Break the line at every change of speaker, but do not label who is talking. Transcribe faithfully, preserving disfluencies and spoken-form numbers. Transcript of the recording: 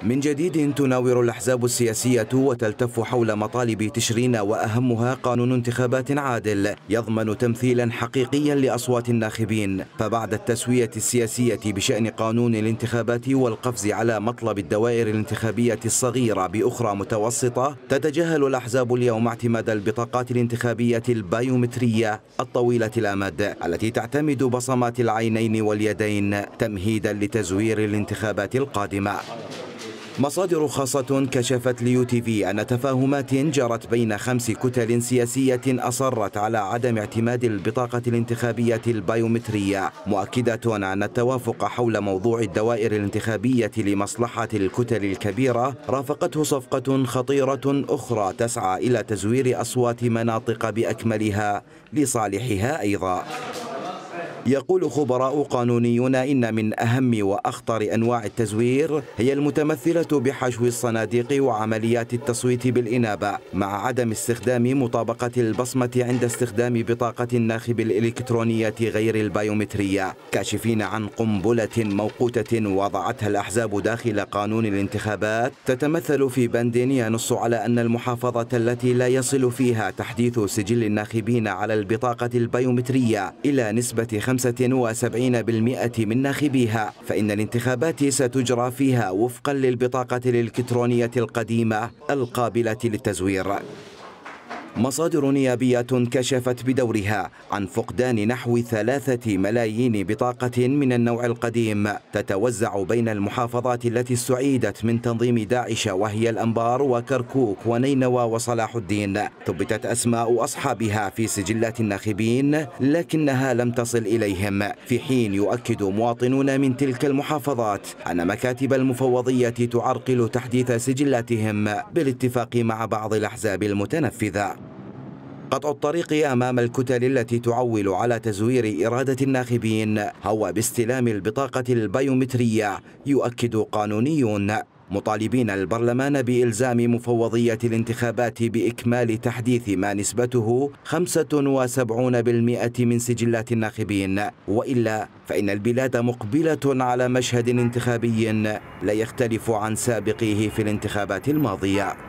من جديد تناور الأحزاب السياسية وتلتف حول مطالب تشرين، وأهمها قانون انتخابات عادل يضمن تمثيلا حقيقيا لأصوات الناخبين. فبعد التسوية السياسية بشأن قانون الانتخابات والقفز على مطلب الدوائر الانتخابية الصغيرة بأخرى متوسطة، تتجاهل الأحزاب اليوم اعتماد البطاقات الانتخابية البايومترية الطويلة الأمد التي تعتمد بصمات العينين واليدين تمهيدا لتزوير الانتخابات القادمة. مصادر خاصة كشفت ليو تي في أن تفاهمات جرت بين خمس كتل سياسية أصرت على عدم اعتماد البطاقة الانتخابية البايومترية، مؤكدة أن التوافق حول موضوع الدوائر الانتخابية لمصلحة الكتل الكبيرة رافقته صفقة خطيرة أخرى تسعى إلى تزوير أصوات مناطق بأكملها لصالحها أيضا. يقول خبراء قانونيون إن من أهم وأخطر أنواع التزوير هي المتمثلة بحشو الصناديق وعمليات التصويت بالإنابة مع عدم استخدام مطابقة البصمة عند استخدام بطاقة الناخب الإلكترونية غير البايومترية، كاشفين عن قنبلة موقوتة وضعتها الأحزاب داخل قانون الانتخابات تتمثل في بند ينص على أن المحافظة التي لا يصل فيها تحديث سجل الناخبين على البطاقة البايومترية إلى نسبة خمسة وسبعين بالمئة من ناخبيها، فإن الانتخابات ستجرى فيها وفقا للبطاقة الإلكترونية القديمة القابلة للتزوير. مصادر نيابية كشفت بدورها عن فقدان نحو ثلاثة ملايين بطاقة من النوع القديم تتوزع بين المحافظات التي استعيدت من تنظيم داعش، وهي الأنبار وكركوك ونينوى وصلاح الدين. ثبتت أسماء أصحابها في سجلات الناخبين لكنها لم تصل إليهم، في حين يؤكد مواطنون من تلك المحافظات أن مكاتب المفوضية تعرقل تحديث سجلاتهم بالاتفاق مع بعض الأحزاب المتنفذة. قطع الطريق أمام الكتل التي تعول على تزوير إرادة الناخبين هو باستلام البطاقة البايومترية، يؤكد قانونيون، مطالبين البرلمان بإلزام مفوضية الانتخابات بإكمال تحديث ما نسبته خمسة وسبعين بالمئة من سجلات الناخبين، وإلا فإن البلاد مقبلة على مشهد انتخابي لا يختلف عن سابقيه في الانتخابات الماضية.